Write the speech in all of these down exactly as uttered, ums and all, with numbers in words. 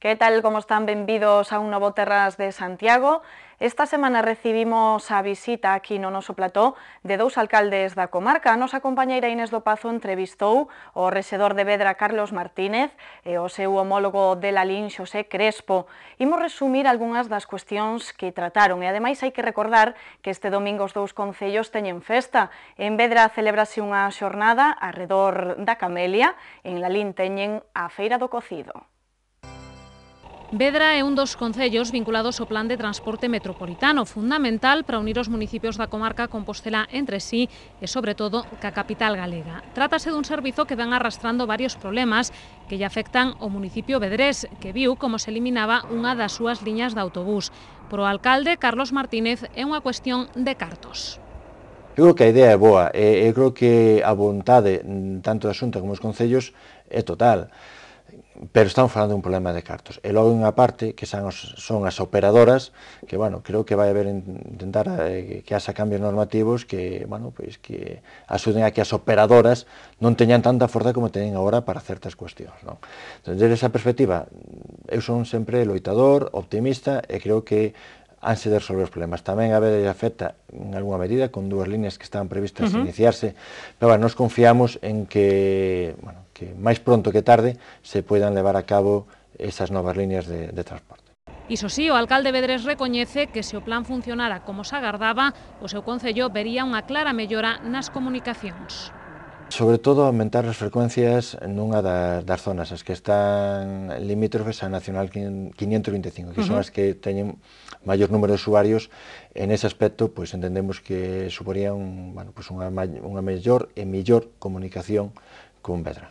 Que tal, como están? Benvidos a un novo Terras de Santiago. Esta semana recibimos a visita aquí no noso plató de dous alcaldes da comarca. A nosa compañeira Inés do Pazo entrevistou o rexedor de Vedra Carlos Martínez e o seu homólogo de Lalín Xosé Crespo. Imos resumir algunhas das cuestións que trataron e ademais hai que recordar que este domingo os dous concellos teñen festa. En Vedra celebrase unha xornada arredor da Camelia, en Lalín teñen a Feira do Cocido. Vedra é un dos concellos vinculados ao Plan de Transporte Metropolitano, fundamental para unir os municipios da comarca Compostela entre sí e, sobre todo, ca capital galega. Trátase dun servizo que van arrastrando varios problemas que lle afectan ao municipio vedrés, que viu como se eliminaba unha das súas liñas de autobús. Por o alcalde, Carlos Martínez, é unha cuestión de cartos. Eu creo que a idea é boa, e eu creo que a vontade, tanto da Xunta como dos concellos, é total. Pero estamos falando de un problema de cartos. E logo unha parte que son, os, son as operadoras, que, bueno, creo que vai haber intentar eh, que haxa cambios normativos que, bueno, pues, que axuden a que as operadoras non teñan tanta forza como teñen agora para certas cuestións, non? Entón, desde esa perspectiva, eu son sempre loitador, optimista, e creo que hanse de resolver os problemas. Tamén a vez afecta en algunha medida con dúas líneas que estaban previstas uh -huh. iniciarse, pero bueno, nos confiamos en que, bueno, que máis pronto que tarde se poidan levar a cabo esas novas líneas de, de transporte. Iso sí, o alcalde vedrés recoñece que se o plan funcionara como se agardaba, o seu concello vería unha clara mellora nas comunicacións. Sobre todo aumentar as frecuencias nunha das, das zonas, as que están limítrofes a Nacional quinientos vinte e cinco, que uh -huh. son as que teñen maior número de usuarios. En ese aspecto, pues, entendemos que suporía un, bueno, pues, unha, unha mellor e mellor comunicación con Vedra.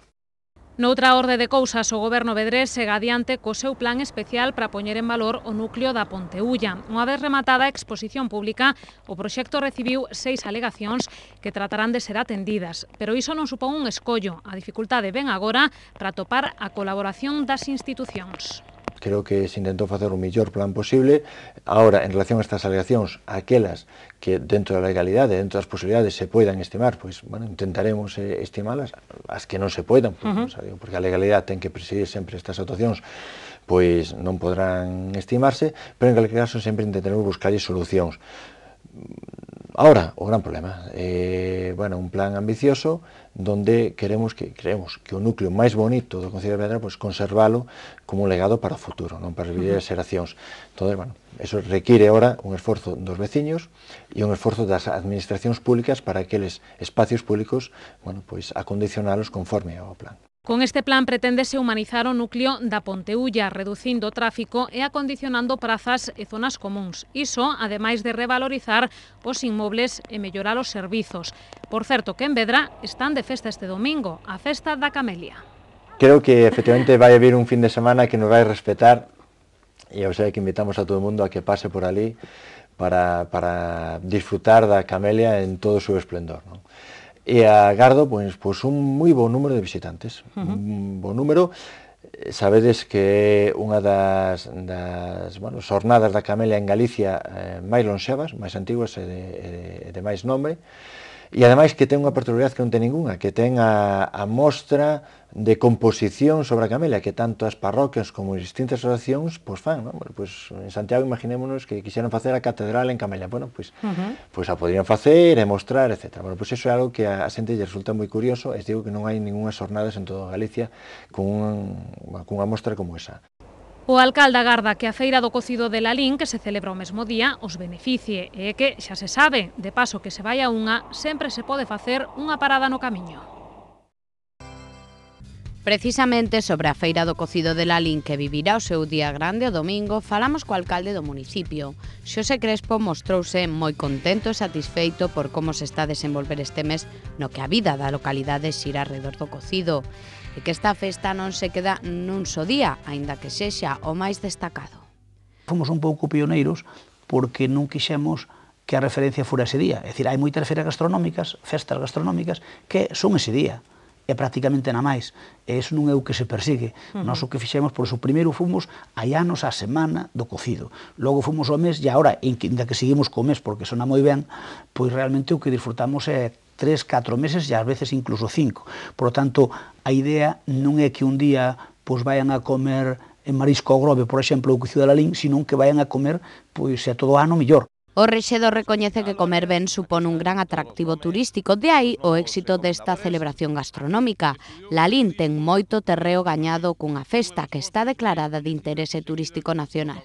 Noutra orde de cousas, o goberno vedrés segue adiante co seu plan especial para poñer en valor o núcleo da Ponteulla. Unha vez rematada a exposición pública, o proxecto recibiu seis alegacións que tratarán de ser atendidas, pero iso non supón un escollo. A dificultade ven agora para topar a colaboración das institucións. Creo que se intentou facer o mellor plan posible. Ahora, en relación a estas alegacións, aquelas que dentro da legalidade, dentro das posibilidades se poidan estimar, pois, bueno, intentaremos eh, estimalas. As que non se poidan, pois, uh -huh. non, porque a legalidade ten que presidir sempre estas actuacións, pois non podrán estimarse, pero en calquer caso sempre intentaremos buscar solucións. Ahora, o gran problema, eh, bueno, un plan ambicioso donde queremos que creemos que o núcleo máis bonito do Concello de Vedra, pues, conservalo como un legado para o futuro, non para as vinderas xeracións. Entón, bueno, eso require ahora un esforzo dos veciños e un esforzo das administracións públicas para aqueles espacios públicos, bueno, pues, acondicionalos conforme ao plan. Con este plan preténdese humanizar o núcleo da Ponteulla, reducindo o tráfico e acondicionando prazas e zonas comuns. Iso, ademais de revalorizar os inmobles e mellorar os servizos. Por certo, que en Vedra están de festa este domingo, a festa da Camelia. Creo que efectivamente vai haber un fin de semana que nos vai respetar, e o sea que invitamos a todo o mundo a que pase por ali para, para disfrutar da Camelia en todo o seu esplendor, non? E agardo, pois, pois, un moi bo número de visitantes, uh -huh. un bo número. Sabedes que é unha das, das bueno, xornadas da Camelia en Galicia eh, máis lonxevas, máis antiguas e de, de, de máis nome, e ademais que ten unha particularidade que non ten ninguna, que ten a, a mostra de composición sobre a Camelia, que tanto as parroquias como as distintas asociacións pois fan, non? Bueno, pois, en Santiago imaginémonos que quixeran facer a catedral en Camelia, bueno, pois, uh -huh. pois a poderían facer e mostrar, etcétera. Bueno, pois iso é algo que a, a xente lle resulta moi curioso, e digo que non hai ningunhas xornadas en toda Galicia con, un, con unha mostra como esa. O alcalde agarda que a Feira do Cocido de Lalín, que se celebra o mesmo día, os beneficie, e que, xa se sabe, de paso que se vai a unha, sempre se pode facer unha parada no camiño. Precisamente sobre a Feira do Cocido de Lalín, que vivirá o seu día grande o domingo, falamos co alcalde do municipio. Xosé Crespo mostrouse moi contento e satisfeito por como se está a desenvolver este mes no que a vida da localidade xira alrededor do cocido, e que esta festa non se queda nun só día, aínda que sexa o máis destacado. Fomos un pouco pioneiros porque non quixemos que a referencia fora ese día. É dicir, hai moitas feiras gastronómicas, festas gastronómicas, que son ese día. É prácticamente na máis, e iso non é o que se persigue. Uh -huh. Nós o que fixemos, por iso, primeiro fomos hai anos a semana do cocido, logo fomos ao mes, e agora, ainda que seguimos co mes, porque sona moi ben, pois realmente o que disfrutamos é tres, catro meses, e ás veces incluso cinco. Por lo tanto, a idea non é que un día pois vayan a comer en marisco ao grobe, por exemplo, o cocido da Lalín, senón que vayan a comer, pois, a todo o ano millor. O rexedor recoñece que comer ben supón un gran atractivo turístico, de aí o éxito desta celebración gastronómica. Lalín ten moito terreo gañado cunha festa que está declarada de interese turístico nacional.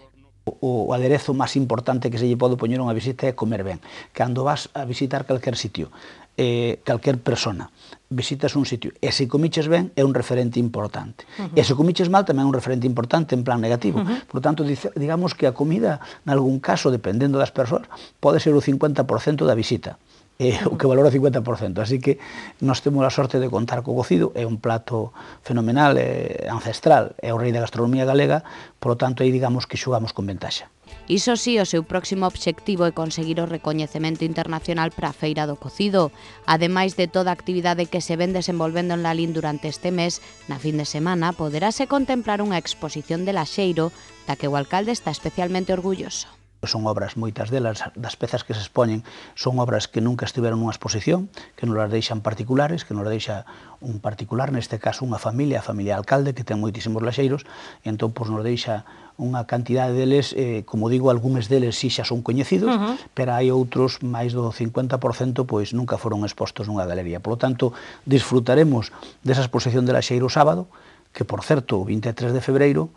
O aderezo máis importante que se lle pode poñer unha visita é comer ben. Cando vas a visitar calquer sitio, eh, calquer persona, visitas un sitio e se comiches ben é un referente importante. Uh -huh. E se comiches mal tamén é un referente importante en plan negativo. Uh -huh. Por tanto, digamos que a comida, en algún caso, dependendo das persoas, pode ser o cincuenta por cento da visita. É o que valora o cincuenta por cento. Así que nós temos a sorte de contar co cocido, é un plato fenomenal, é ancestral, é o rei da gastronomía galega, por lo tanto, aí digamos que xogamos con ventaxa. Iso sí, o seu próximo obxectivo é conseguir o recoñecemento internacional para a Feira do Cocido. Ademais de toda a actividade que se ven desenvolvendo en Lalín durante este mes, na fin de semana poderase contemplar unha exposición de laxeiro da que o alcalde está especialmente orgulloso. Son obras, moitas delas, das pezas que se expoñen, son obras que nunca estiveron nunha exposición, que non las deixan particulares, que non las deixa un particular, neste caso unha familia, a familia alcalde, que ten moitísimos laxeiros, e entón pois, nos deixa unha cantidade deles, eh, como digo, algúns deles si xa son coñecidos, uh -huh. pero hai outros, máis do cincuenta por cento, pois nunca foron expostos nunha galería. Por lo tanto, disfrutaremos desa exposición de laxeiro sábado, que, por certo, o vinte e tres de febreiro,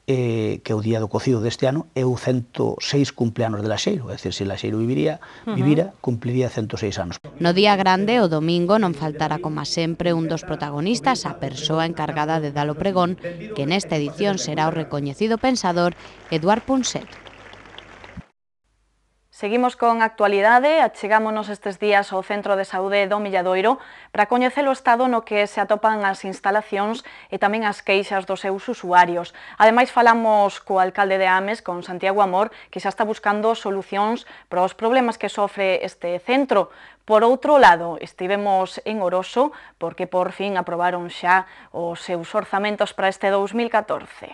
Eh, que o día do cocido deste ano é o ciento seis cumpleanos de Laxeiro, é dicir, se Laxeiro viviría, vivira, cumpliría ciento seis anos. No día grande, o domingo, non faltará como sempre un dos protagonistas, a persoa encargada de dar o pregón, que nesta edición será o recoñecido pensador Eduard Punset. Seguimos con actualidade, achegámonos estes días ao Centro de Saúde do Milladoiro para coñecer o estado no que se atopan as instalacións e tamén as queixas dos seus usuarios. Ademais, falamos co alcalde de Ames, con Santiago Amor, que xa está buscando solucións para os problemas que sofre este centro. Por outro lado, estivemos en Oroso porque por fin aprobaron xa os seus orzamentos para este dous mil catorce.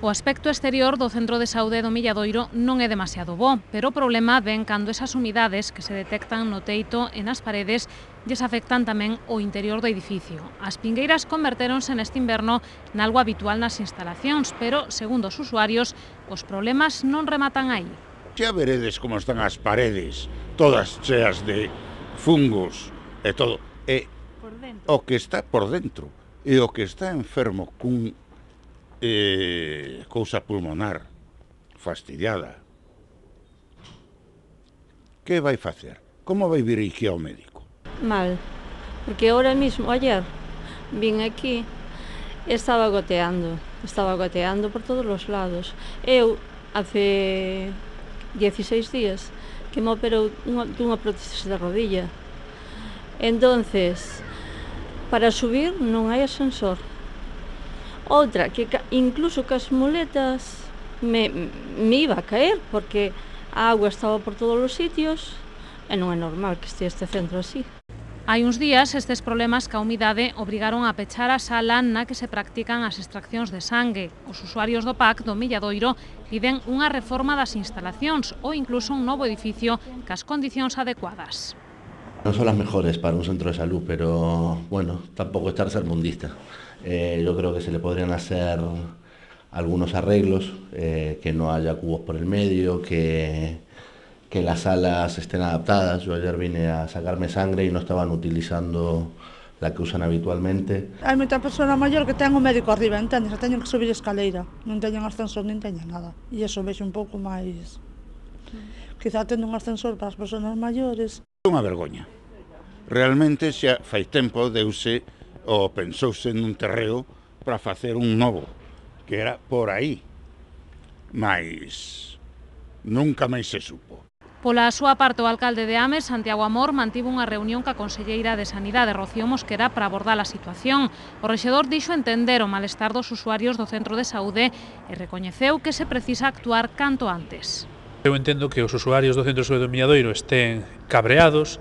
O aspecto exterior do Centro de Saúde do Milladoiro non é demasiado bo, pero o problema ven cando esas humidades que se detectan no teito e nas paredes lles afectan tamén o interior do edificio. As pingueiras convertéronse neste inverno nalgo habitual nas instalacións, pero, segundo os usuarios, os problemas non rematan aí. Xa veredes como están as paredes, todas cheas de fungos e todo. E o que está por dentro e o que está enfermo cun Eh, cousa pulmonar fastidiada, que vai facer? Como vai vir aquí ao médico? Mal, porque ahora mismo, ayer, vin aquí e estaba goteando, estaba goteando por todos os lados. Eu, hace dieciséis días, que me operou unha, dunha prótesis de rodilla. Entonces, para subir non hai ascensor. Outra, que incluso que as muletas me, me iba a caer, porque a agua estaba por todos os sitios, e non é normal que este este centro así. Hai uns días, estes problemas ca humidade obrigaron a pechar a sala na que se practican as extraccións de sangue. Os usuarios do P A C do Milladoiro piden unha reforma das instalacións ou incluso un novo edificio cas condicións adecuadas. Non son as mejores para un centro de salud, pero, bueno, tampouco estar sermundista. Eh, yo creo que se le podrían hacer algunos arreglos, eh, que no haya cubos por el medio, que, que las salas estén adaptadas. Yo ayer vine a sacarme sangre y no estaban utilizando la que usan habitualmente. Hai moita persona maior que ten o médico arriba, entendes? Teñen que subir escaleira, non teñen ascensor, nin teñen nada. E iso vexo un pouco máis... Quizá tendo un ascensor para as persoas maiores. É unha vergoña. Realmente xa fai tempo deuse ou pensouse nun terreo para facer un novo, que era por aí, mas nunca máis se supo. Pola súa parte, o alcalde de Ames, Santiago Amor, mantivo unha reunión ca conselleira de Sanidade, Rocío Mosquera, para abordar a situación. O rexedor dixo entender o malestar dos usuarios do centro de saúde e recoñeceu que se precisa actuar canto antes. Eu entendo que os usuarios do Centro de Saúde do Milladoiro estén cabreados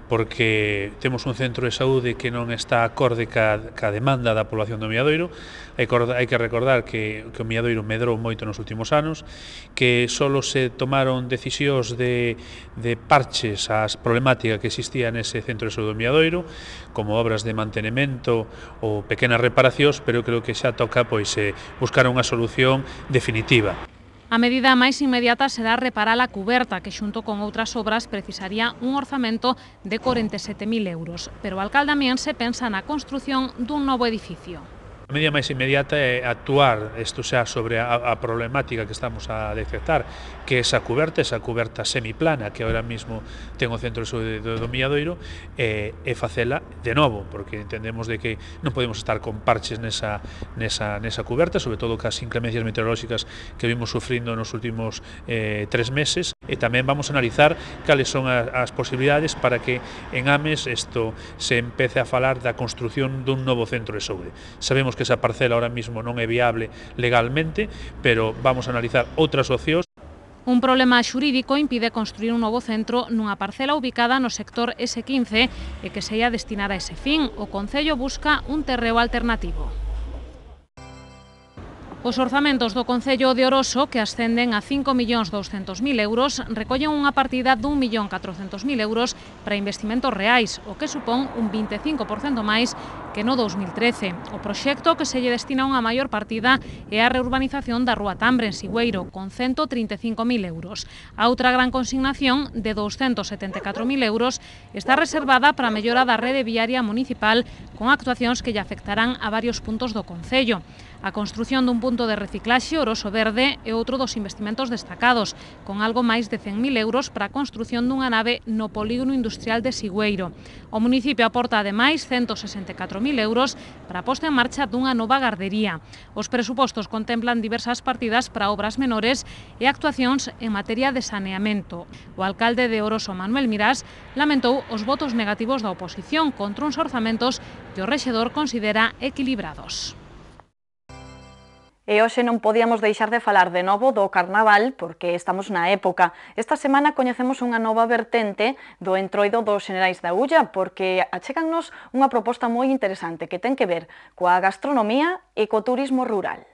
porque temos un centro de saúde que non está acorde ca, ca demanda da población do Milladoiro. Hai que recordar que, que o Milladoiro medrou moito nos últimos anos, que solo se tomaron decisións de, de parches ás problemática que existía nese centro de saúde do Milladoiro, como obras de mantenimento ou pequenas reparacións, pero creo que xa toca pois, eh, buscar unha solución definitiva. A medida máis inmediata será reparar a cuberta, que xunto con outras obras precisaría un orzamento de corenta e sete mil euros. Pero o alcalde amiense pensa na construción dun novo edificio. A medida máis inmediata é actuar, isto xa sobre a, a problemática que estamos a detectar, que esa cuberta, esa cuberta semiplana que ahora mismo ten o centro de saúde do, do Milladoiro, e, e facela de novo, porque entendemos de que non podemos estar con parches nesa, nesa, nesa cuberta, sobre todo cas inclemencias meteorolóxicas que vimos sufrindo nos últimos eh, tres meses, e tamén vamos a analizar cales son as, as posibilidades para que en Ames isto se empece a falar da construción dun novo centro de saúde. Sabemos que esa parcela ahora mismo non é viable legalmente, pero vamos a analizar outras opcións. Un problema xurídico impide construir un novo centro nunha parcela ubicada no sector ese quince e que se ia destinar a ese fin. O Concello busca un terreo alternativo. Os orzamentos do Concello de Oroso, que ascenden a cinco millóns douscentos mil euros, recollen unha partida dun millón catrocentos mil euros para investimentos reais, o que supón un vinte e cinco por cento máis que no dous mil trece. O proxecto que se lle destina unha maior partida é a reurbanización da Rúa Tambre, en Sigüeiro, con cento trinta e cinco mil euros. A outra gran consignación, de douscentos setenta e catro mil euros, está reservada para a mellora da rede viaria municipal con actuacións que lle afectarán a varios puntos do Concello. A construción dun punto de reciclaxe Oroso Verde é outro dos investimentos destacados, con algo máis de cen mil euros para a construción dunha nave no polígono industrial de Sigüeiro. O municipio aporta ademais cento sesenta e catro mil euros para a posta en marcha dunha nova gardería. Os presupostos contemplan diversas partidas para obras menores e actuacións en materia de saneamento. O alcalde de Oroso, Manuel Mirás, lamentou os votos negativos da oposición contra uns orzamentos que o rexedor considera equilibrados. E hoxe non podíamos deixar de falar de novo do Carnaval, porque estamos na época. Esta semana coñecemos unha nova vertente do Entroido dos Xenerais da Ulla, porque achégannos unha proposta moi interesante que ten que ver coa gastronomía e co turismo rural.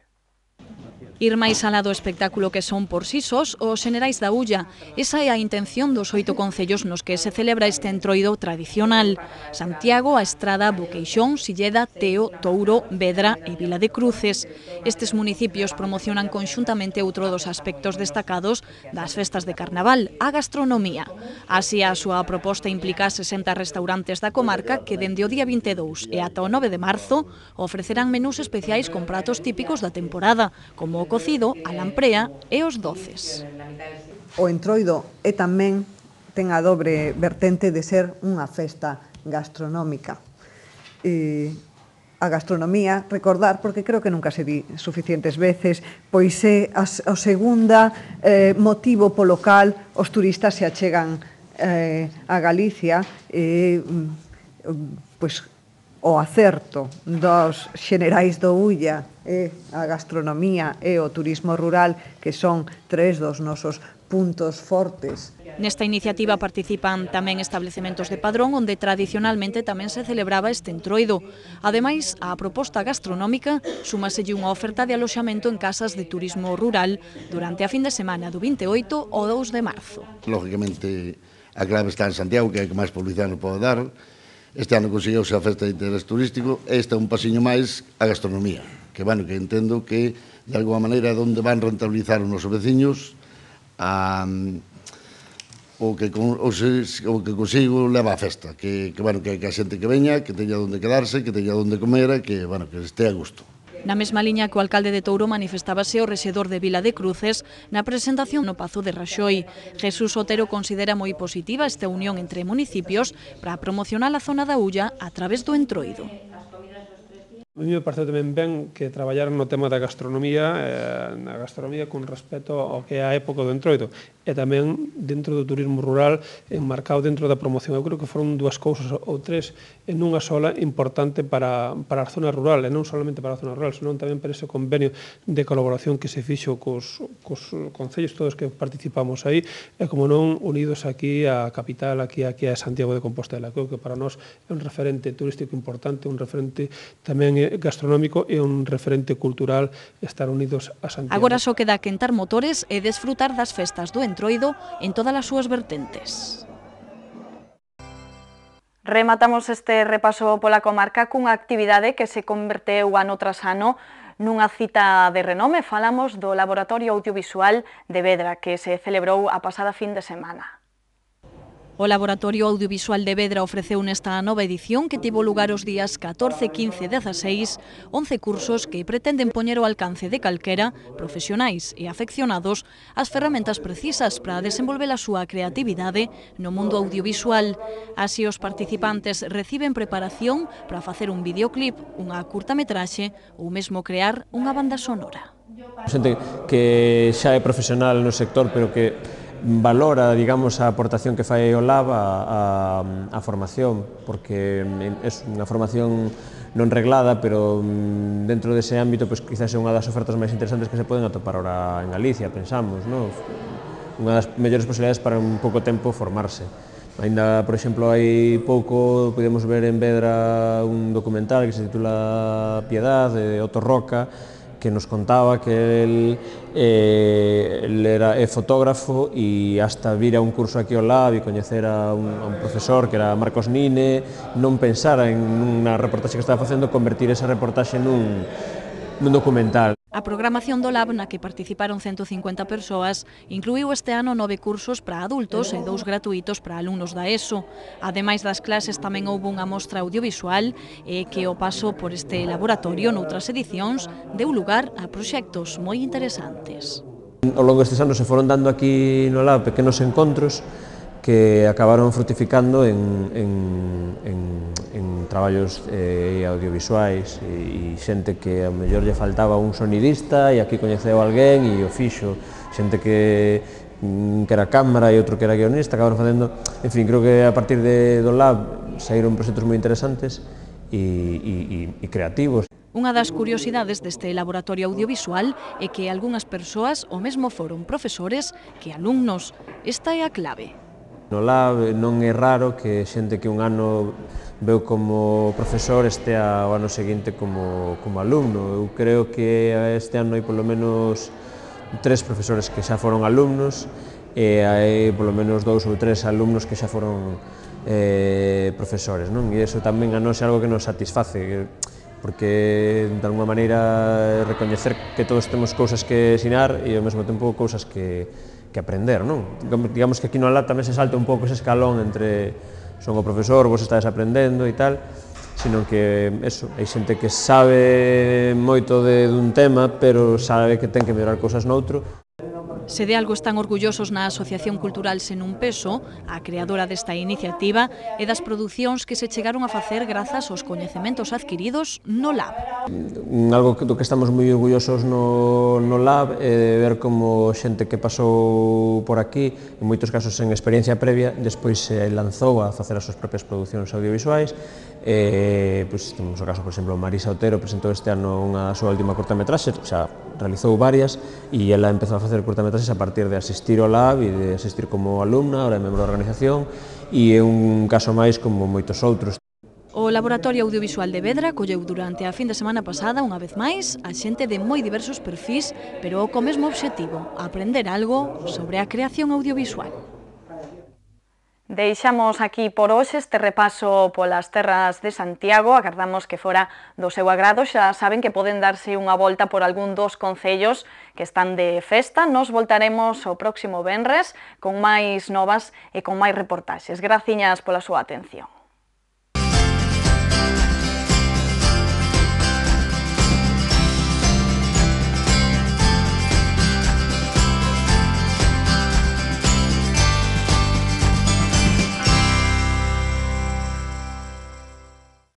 Ir máis alá do espectáculo que son por si sós os Xenerais da Ulla. Esa é a intención dos oito concellos nos que se celebra este entroido tradicional. Santiago, A Estrada, Boqueixón, Silleda, Teo, Touro, Vedra e Vila de Cruces. Estes municipios promocionan conxuntamente outro dos aspectos destacados das festas de Carnaval, a gastronomía. Así, a súa proposta implica sesenta restaurantes da comarca que dende o día vinte e dous e ata o nove de marzo ofrecerán menús especiais con pratos típicos da temporada, como o cocido, a lamprea e os doces. O entroido é tamén ten a dobre vertente de ser unha festa gastronómica. E a gastronomía, recordar, porque creo que nunca se di suficientes veces, pois é o segunda eh, motivo polo cal os turistas se achegan eh, a Galicia e eh, pois o acerto dos Xenerais do Ulla e a gastronomía e o turismo rural, que son tres dos nosos puntos fortes. Nesta iniciativa participan tamén establecementos de Padrón, onde tradicionalmente tamén se celebraba este entroido. Ademais, á proposta gastronómica súmaselle unha oferta de aloxamento en casas de turismo rural durante a fin de semana do vinte e oito ao dous de marzo. Lógicamente, a clave está en Santiago, que é a que máis publicidade nos pode dar. Este ano conseguiuse a festa de interés turístico, e este é un pasiño máis a gastronomía, que, bueno, que entendo que, de alguma maneira, é onde van rentabilizar os nosos veciños, a, o, que, o, se, o que consigo leva a festa, que, que, bueno, que, que a xente que veña, que teña onde quedarse, que teña onde comer, e que, bueno, que este a gusto. Na mesma liña que o alcalde de Touro manifestábase o rexedor de Vila de Cruces na presentación no Pazo de Raxoi. Jesús Otero considera moi positiva esta unión entre municipios para promocionar a zona da Ulla a través do entroido. A mí me parece tamén ben que traballaran no tema da gastronomía, eh, na gastronomía con respecto ao que é a época do Entroido, e tamén dentro do turismo rural, enmarcado dentro da promoción. Eu creo que foron dúas cousas ou tres en unha sola importante para, para a zona rural, e non solamente para a zona rural, senón tamén para ese convenio de colaboración que se fixo cos, cos concellos todos que participamos aí, e como non unidos aquí á capital, aquí, aquí a Santiago de Compostela. Creo que para nós é un referente turístico importante, un referente tamén gastronómico e un referente cultural estar unidos a Santiago. Agora só queda quentar motores e desfrutar das festas do Entroido en todas as súas vertentes. Rematamos este repaso pola comarca cunha actividade que se converteu ano tras ano nunha cita de renome. Falamos do Laboratorio Audiovisual de Vedra, que se celebrou a pasada fin de semana. O Laboratorio Audiovisual de Vedra ofreceu nesta nova edición que tivo lugar os días catorce, quince e dezaseis, once cursos que pretenden poñer ao alcance de calquera, profesionais e afeccionados, as ferramentas precisas para desenvolver a súa creatividade no mundo audiovisual. Así, os participantes reciben preparación para facer un videoclip, unha curtametraxe ou mesmo crear unha banda sonora. Xente que xa é profesional no sector, pero que valora, digamos, a aportación que fai o Lab a, a, a formación, porque é unha formación non reglada, pero dentro dese ámbito, pues, quizás é unha das ofertas máis interesantes que se poden atopar ahora en Galicia, pensamos, ¿no? Unha das mellores posibilidades para un pouco tempo formarse. Ainda, por exemplo, hai pouco podemos ver en Vedra un documental que se titula Piedad, de Otto Roca, que nos contaba que el, eh, el era é fotógrafo e hasta vir a un curso aquí ao Lab e coñecer a un, a un profesor que era Marcos Nine, non pensara en unha reportaxe que estaba facendo, convertir esa reportaxe nun, nun documental. A programación do Lab, na que participaron ciento cincuenta persoas, incluíu este ano nove cursos para adultos e dous gratuitos para alumnos da ESO. Ademais das clases, tamén houve unha mostra audiovisual e que o paso por este laboratorio noutras edicións deu lugar a proxectos moi interesantes. Ao longo destes anos se foron dando aquí no Lab pequenos encontros que acabaron frutificando en, en, en, en traballos eh, audiovisuais e, e xente que a mellor lle faltaba un sonidista e aquí coñeceu alguén e o fixo, xente que, que era cámara e outro que era guionista, acabaron facendo, en fin, creo que a partir de, do Lab saíron proxectos moi interesantes e, e, e creativos. Unha das curiosidades deste laboratorio audiovisual é que algunhas persoas o mesmo foron profesores que alumnos. Esta é a clave. No Lab non é raro que xente que un ano veu como profesor estea o ano seguinte como, como alumno. Eu creo que este ano hai polo menos tres profesores que xa foron alumnos e hai polo menos dous ou tres alumnos que xa foron eh, profesores, non? E iso tamén a nós é algo que nos satisface, porque de alguma maneira recoñecer que todos temos cousas que ensinar e ao mesmo tempo cousas que que aprender, non? Digamos que aquí no Lab tamén se salta un pouco ese escalón entre son o profesor, vos estades aprendendo e tal, sino que eso, hai xente que sabe moito de dun tema, pero sabe que ten que mellorar cousas noutro. Se de algo están orgullosos na Asociación Cultural Sen un Peso, a creadora desta iniciativa, e das producións que se chegaron a facer grazas aos coñecementos adquiridos no Lab. Algo do que estamos moi orgullosos no, no Lab é de ver como xente que pasou por aquí, en moitos casos en experiencia previa, despois se lanzou a facer as súas propias producións audiovisuais. Eh, pues, temos o caso, por exemplo, Marisa Otero presentou este ano unha súa última cortametraxe, xa realizou varias e ela empezou a facer cortametraxes a partir de asistir ao Lab e de asistir como alumna, ahora é membro da organización, e é un caso máis como moitos outros. O Laboratorio Audiovisual de Vedra colleu durante a fin de semana pasada, unha vez máis, a xente de moi diversos perfís, pero co mesmo obxectivo, aprender algo sobre a creación audiovisual. Deixamos aquí por hoxe este repaso polas terras de Santiago. Agardamos que fora do seu agrado. Xa saben que poden darse unha volta por algún dos concellos que están de festa. Nos voltaremos o próximo venres con máis novas e con máis reportaxes. Graciñas pola súa atención.